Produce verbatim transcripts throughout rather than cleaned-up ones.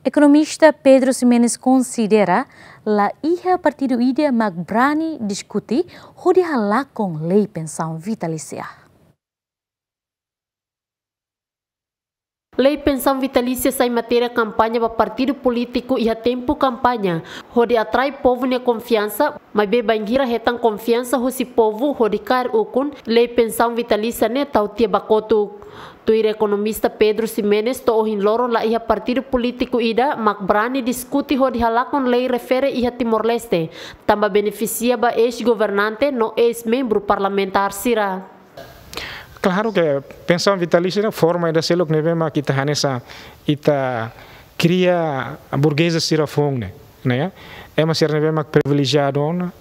Ekonomista Pedro Ximenes konsidera la iha partidu ida mak brani diskute hodi halakon lei pensaun vitalísia. Lei pensaun vitalísia sai matéria kampaña ba partidu polítiku iha tempu kampaña, hodi atrai povu nia konfiansa, maibé bainhira hetan konfiansa husi povu hodi kaer ukun, lei pensaun vitalísia ne'e tau tiha ba kotuk. Tuir ekonomista Pedro Ximenes, to'o ohin loron la iha partidu polítiku ida mak brani diskute hodi halakon lei refere iha Timor-Leste, tanba benefisia ba eis-governante no eis-membru parlamentár sira. Klaru ke pensaun vitalísia ne'e forma ida seluk ne'ebé mak ita hanesan ita kria burgeza sira foun ne'e, ne'e? Ema sira ne'ebé mak privilejiadu ona,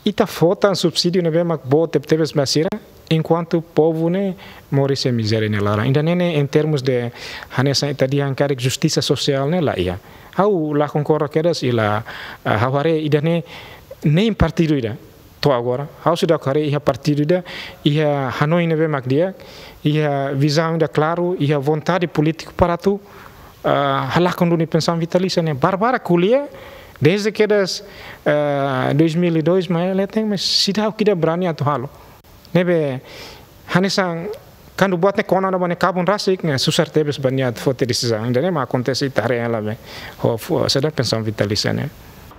ita fó tan subsídiu ne'ebé mak boot tebetebes ba sira, enkuantu povu ne'e moris iha mizéria nia laran. Ida-ne'e ne'e em termos de hanesan ita dehan karik justisa sosiál ne'e la iha. Ha'u la konkorda kedas i la, ah, ha'u haree ida-ne'e nein partidu ida to'o agora. Ha'u seidauk haree iha partidu ida iha hanoin ne'ebé mak di'ak, iha vizaun ida klaru, iha vontade polítiku para atu, ah, halakon duni pensaun vitalísia ne'e. Barak-barak ko'alia, desde kedas, ah, dois mil e dois mai leten, mas seidauk ida brani atu halo. Ne'ebé hanesan kuandu buat ne'e kona ona ba nia kabun rasik ne'e susar tebes ba nia atu foti desizaun. Ida-ne'e mak akontese ita haree hela be. Ho fu-, saida pensaun vitalísia ne'e.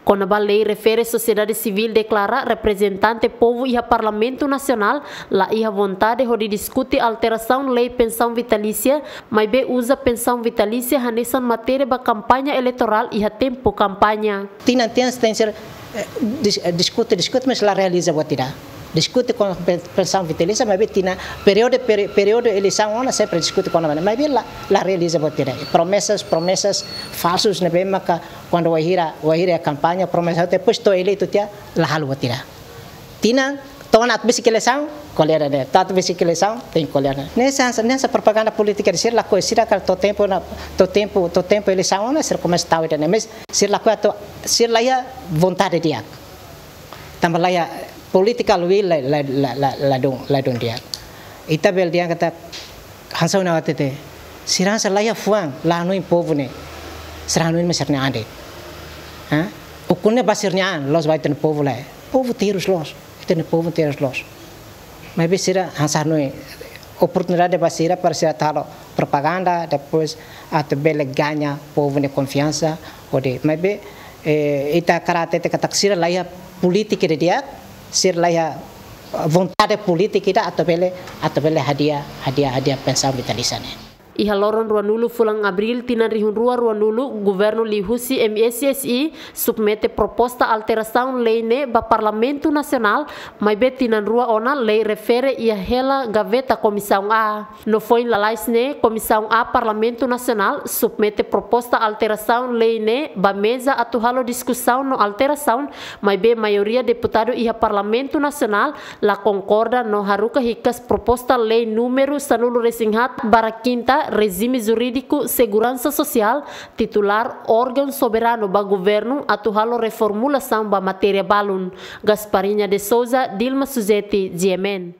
Kona-ba lei refere, sosiedade sivíl deklara reprezentante povu iha Parlamentu Nasionál la iha vontade hodi diskute alterasaun lei pensaun vitalísia, maibé uza pensaun vitalísia hanesan matéria ba kampaña eleitorál iha tempu kampaña. Tinan-tinan tenke ser, eh, dis-, eh, diskute, diskute, mas la realiza buat ida. Diskute kona-ba pen-, pensaun vitalísia, maibé tinan períodu, peri-, períodu eleisaun ona sempre diskute kona-ba ne'e, maibé la, la realiza buat ida. Promesas, promesas falsus ne'ebé maka kuandu wainhira, wainhira kampaña, promesa, depois to'o eleitu tiha, la halo buat ida. Tinan, to'o ona atu besik eleisaun, ko'alia ida-ne'e. To'o atu besik eleisaun, tenke ko'alia ida-ne'e. Ne'e hanesan, ne'e hanesan propaganda polítika ida, sira lakohi, sira karik to'o tempu ona, to'o tempu, to'o tempu eleisaun ona, sira komesa tau ida-ne'e. Mas sira lakohi atu, sira la iha vontade di'ak. Tanba la iha political will la, la, la, la, ladún, ladún di'ak. Ita bele dehan katak hanesan ohin ha'u hatete. Sira hanesan la iha fuan, la hanoin povu ne'e. Sira hanoin mak sira-nia an de'it. Ha? Ukun ne'e ba sira-nia an, la'ós ba ita-nia povu lae. Povu terus loos. Ita-nia povu terus loos. Maibé sira hanesan hanoin oportunidade ba sira para sira atu halo propaganda, depois atu bele gaña povu nia konfiansa, hodi. Maibé, eh, ita hakarak hatete katak sira la iha polítika ida di'ak, sira la iha vontade polítika ida atu bele, atu bele hadi'a, hadi'a, hadi'a pensaun vitalísia ne'e. Iha loron ruanulu fulan Abríl tinan rihun rua ruanulu, governu liuhusi M S S I submete proposta alterasaun lei ne'e ba Parlamentu Nasionál, maibé tinan rua ona lei refere iha hela gaveta Komisaun A. No foin lalais ne'e, Komisaun A Parlamentu Nasionál submete proposta alterasaun lei ne'e ba meza atu halo diskusaun no alterasaun, maibé maioria deputadu iha Parlamentu Nasionál la konkorda no haruka hikas proposta lei númeru sanulu-resin-haat barra kinta, Rejime Jurídiku Seguransa Sosiál, titulár órgaun soberanu ba governu atu halo reformulasaun ba matéria balun. Gasparinha de Souza, Dilma Suzeti, G M N.